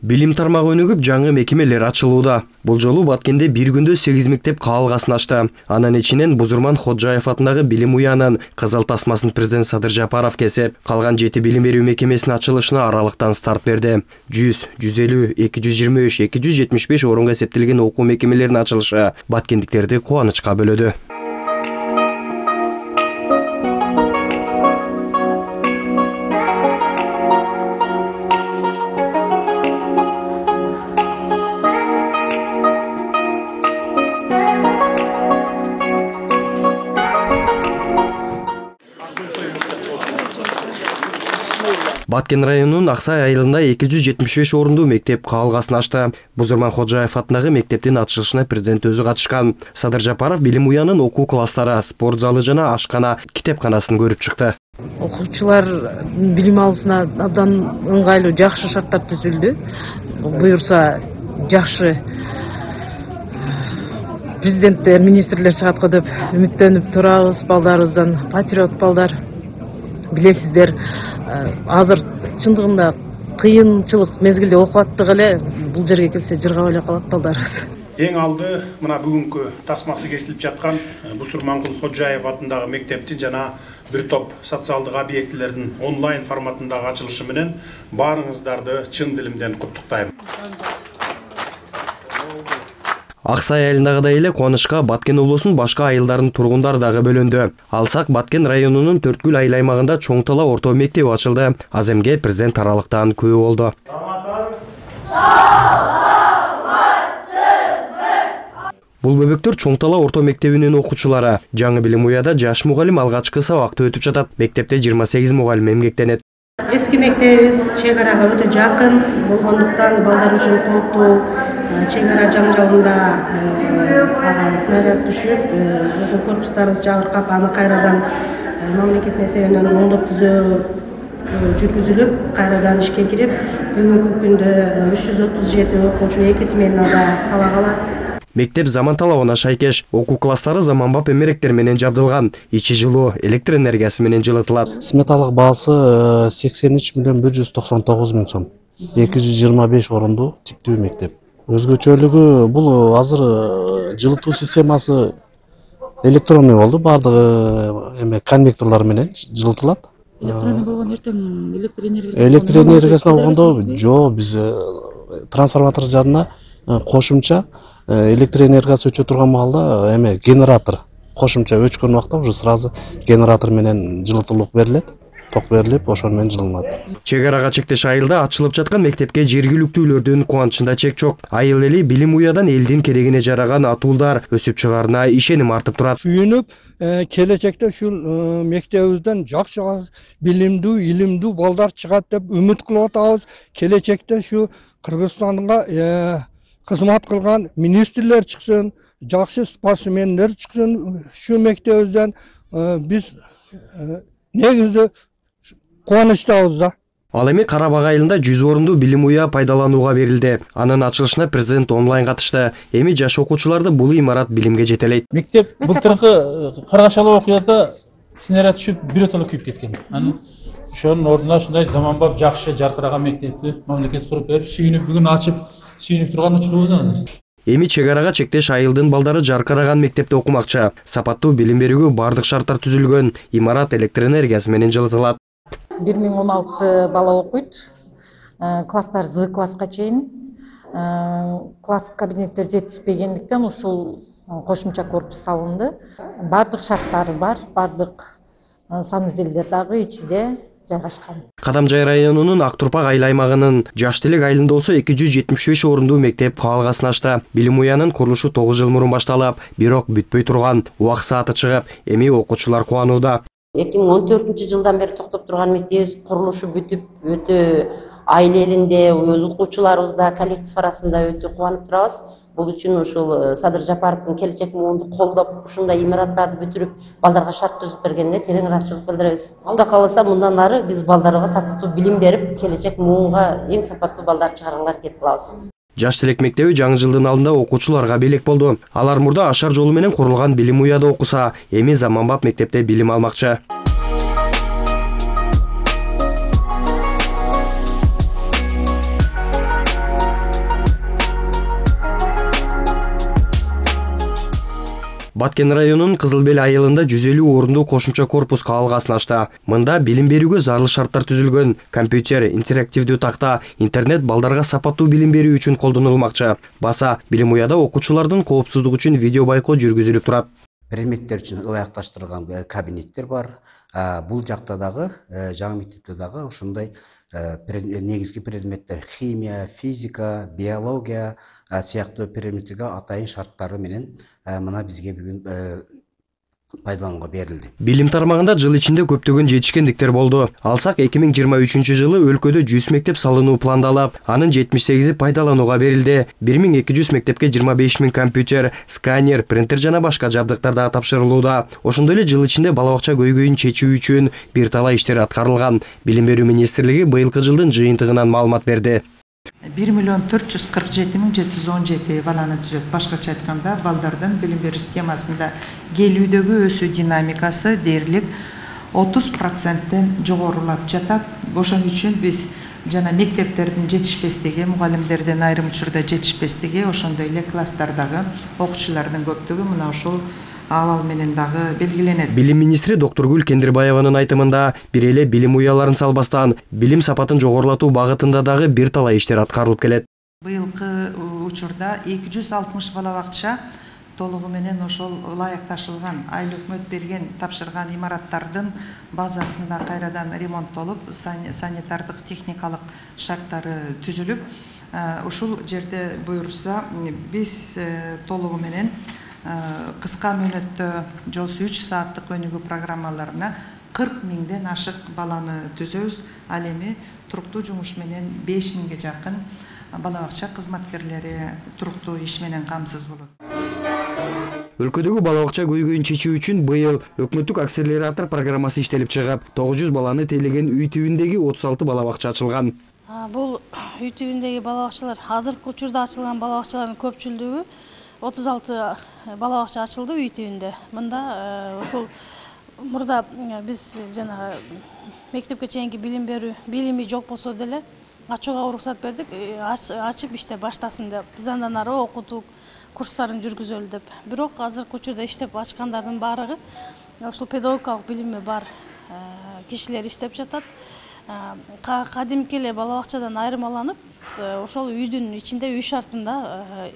Билим тармагы өнүгүп, жаңы мекемелер ачылууда. Бул жолу Баткенде бир күндө 8 мектеп каалгасын ачты. Анын ичинен Бузурман Ходжаев атындагы билим уянын кызыл тасмасын президент Садыр Жапаров кесип, калган 7 билим берүү мекемесинин ачылышына аралыктан старт берди. 100, 150, 223, 275 орунга эсептелген окуу мекемелеринин ачылышы баткендиктерди кубанычка бөлөдү. Баткен районунун Аксай айылында 275 орундуу мектеп каалгасын ачты. Бузурман Ходжаев атындагы мектептин ачылышына президент өзү катышкан. Садыр Жапаров билим уянын окуу класстары, спорт залы жана ашкана, китепканасын көрүп чыкты. Окуучулар билим алуусуна абдан ыңгайлуу, жакшы шарттар түзүлдү. Буюрса жакшы президенттер, министрлер чыгат го деп үмүттөнүп турабыз. Балдарыбыздан патриот балдар. Билесиздер, азыр чындыгында кыйынчылык мезгилде окуп аттык эле, бул жерге келсе жыргап эле калат балдарыбыз. Эң алды мына бүгүнкү тасмасы кесилип жаткан Бусурмангул Ходжаев атындагы мектептин жана бир топ социалдык объектилердин онлайн форматындагы ачылышы менен баарыңыздарды чын дилимден куттуктайм. Аксай айылындагыдай эле кубанычка Баткен облусунун башка айылдарынын тургундары дагы бөлөндү. Алсак Баткен районунун Төрткүл айыл аймагында Чоң Тала орто мектеби ачылды. Аземге президент аралыктан күбө болду. Бул бөбөктөр Чоң Тала орто мектебинин окуучулары. Жаңы билим уяда жаш мугалим алгачкы сабакты өтүп жатат. Мектепте 28 мугалим эмгектенет. Эски мектебибиз чек арага өтө жакын болгондуктан балдар үчүн кооптуу. Чек ара жаңжалында снаряд түшүп, корпустарыбыз жабыркап, аны кайрадан мамлекеттин эсебинен оңдоп түзөө жүргүзүлүп, кайрадан ишке кирип, бүгүнкү күндө 337 окуучу 2 сменада сабак алат. Мектеп заман талабына шайкеш, окуу класстары заманбап эмеректер менен жабдылган, ичи жылуу, электр энергиясы менен жылытылат. Сметалык баасы 83 миллион 199 миң сом. 225 орундуу типтүү мектеп. Өзгөчөлүгү бул азыр жылытуу системасы электронный болду, бардыгы конвекторлор менен жылытылат. Электронный болгон эртең электр энергиясына болгондо жок, биз трансформатор жарына кошумча электр энергиясы өчө турган маалда генератор кошумча өчкөн убакта уже сразу генератор менен жылытуулук берилет. Ток берилип, ошол менен жылынат. Чек арага чектеш айылда ачылып жаткан мектепке жергиликтүүлөрдүн кубанычында чек жок. Айыл эли билим уядан элдин керегине жараган атуулдар өсүп чыгаарына ишеним артып турат. Сүйүнүп, келечекте ушул мектебибизден жакшы билимдүү, илимдүү балдар чыгат деп үмүт кылып атабыз. Келечекте ушу Кыргызстанга кызмат кылган министрлер чыксын, жакшы спортсмендер чыксын ушу мектебибизден. Биз негизде кубанычтабыз да. Ал эми Карабак айылында 100 орундуу билим уя пайдаланууга берилди. Анын ачылышына президент онлайн катышты. Эми жаш окуучуларды бул имарат билимге жетелейт. Мектеп былтыркы Каргашалы окуяда снаряд түшүп биротоло күйүп кеткен. Анын ошонун ордуна ушундай заманбап жакшы жаркыраган мектепти мамлекет куруп берип, сүйүнүп бүгүн ачып, сүйүнүп турган учурубуз. Эми чек арага чектеш айылдын балдары жаркыраган мектепте окумакчы. Сапаттуу билим берүүгө бардык шарттар түзүлгөн. Имарат электр энергиясы менен жылытылат. 1016 бала окуйт. Класстар З класска чейин. Класс кабинеттер жетишпегендиктен ушул кошумча корпус салынды. Бардык шарттары бар, бардык санузелдер дагы ичиде жайгашкан. Кадамжай районунун Актурпак айыл аймагынын Жаш Телек айылында болсо 275 орундуу мектеп каалгасын ачты. Билим уянын курулушу 9 жыл мурун башталып, бирок бүтпөй турган. Убак сааты чыгып, эми окуучулар кубанууда. 2014 жылдан бери токтоп турган мектебибиз курулушу бүтүп, өтө айыл элинде, өз окуучуларыбызда, коллектив арасында өтө кубанып турабыз. Бул үчүн ушул Садыр Жапаровдун келечек муунду колдоп, ушундай имараттарды бүтүрүп, балдарга шарт түзүп бергенине терең ыраазычылык билдиребиз. Алда калса мындан ары биз балдарга татыктуу билим берип, келечек муунга эң сапаттуу балдар чыгарганга аракет кылабыз. Жаш Телек мектеби жаңы жылдын алдында окуучуларга белек болду. Алар мурда ашар жолу менен курулган билим уяда окуса, эми заманбап мектепте билим алмакчы. Баткен районунун Кызыл Бел айылында 150 орунду кошумча корпус каалгасын ачты. Мында билим берүүгө зарыл шарттар түзүлгөн. Компьютер, интерактивдүү такта, интернет балдарга сапаттуу билим берүү үчүн колдонулмакчы. Баса билим уяда окуучулардын коопсуздугу үчүн видео байкоо жүргүзүлүп турат. Предметтер үчүн ылайыкташтырылган кабинеттер бар. Бул жакта дагы, жаңы мектепте дагы ошондой негизги предметтер химия, физика, биология сыяктуу предметтерге атайын шарттары менен мына бизге бүгүн пайдаланууга берилди. Билим тармагында жыл ичинде көптөгөн жетишкендиктер болду. Алсак 2023 жылы өлкөдө 100 мектеп салынуу пландалып, анын 78-и пайдаланууга берилди. 1200 мектепке 25 000 компьютер, сканер, принтер жана башка жабдыктар да тапшырылууда. Ошондой эле жыл ичинде бала бакча көйгөйүн чечүү үчүн бир талай иштер аткарылган. Билим берүү министрлиги быйылкы жылдын жыйынтыгынан маалымат берди. 1 447 717 баланы түзөт. Башкача айтканда, балдардын билим берүү системасында келүүдөгү өсүү динамикасы дээрлик 30%тен жогорулап жатат. Ошон үчүн биз жана мектептердин жетишпестиги, мугалимдердин айрым учурда жетишпестиги, ошондой эле класстардагы окуучулардын көптүгү мына ушул абал менен дагы белгиленет. Билим министри Доктургүл Кендирбаеванын айтымында бир эле билим уяларын салбастан билим сапатын жогорулатуу багытында дагы бир талай иштер аткарылып келет. Быйылкы учурда 260 бала бакча толугу менен ошол ылайыкташылган, айыл өкмөт берген, тапшырган имараттардын базасында кайрадан ремонттолуп, санитардык техникалык шарттары түзүлүп, ушул жерде буюрса биз толугу менен кыска мөөнөттө 3 сааттык өнүгүү программаларына 40 000ден ашык баланы түзөбүз. Ал эми туруктуу жумуш менен 5 000ге жакын бала бакча кызматкерлери туруктуу иш менен камсыз болот. Өлкөдөгү бала бакча көйгөйүн чечүү үчүн быйыл өкмөттүк акселератор программасы иштелип чыгып, 900 баланы тейлеген үй тибиндеги 36 бала бакча ачылган. Бул үй тибиндеги бала бакчалар азыркы учурда ачылган бала бакчалардын көпчүлүгү 36 бала бакча ачылды үй тибинде. Мында ушул мурда биз жана мектепке чейинки билим берүү билими жок болсо деле ачууга уруксат бердик, ачып иште баштасын деп. Биз андан ары окутуу курстарын жүргүзөлү деп. Бирок азыркы учурда иштеп ачкандардын баардыгы ушул педагогикалык билими бар кишилер иштеп жатат. Кадимки эле бала бакчадан айырмаланып, ошол үйдүн ичинде үй шартында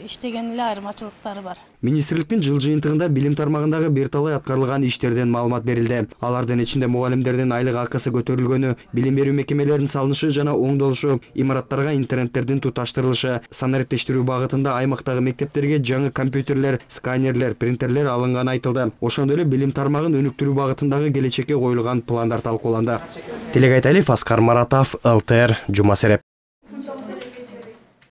иштеген эле айырмачылыктары бар. Министрликтин жыл жыйынтыгында билим тармагындагы бир талай аткарылган иштерден маалымат берилди. Алардын ичинде мугалимдердин айлык акысы көтөрүлгөнү, билим берүү мекемелеринин салынышы жана оңдолушу, имараттарга интернеттердин туташтырылышы, санариптештирүү багытында аймактагы мектептерге жаңы компьютерлер, сканерлер, принтерлер алынганы айтылды. Ошондой эле билим тармагын өнүктүрүү багытындагы келечекке коюлган пландар талкууланды. Телегайталиев, Аскар Маратов, ЛТР, Жума Сереп.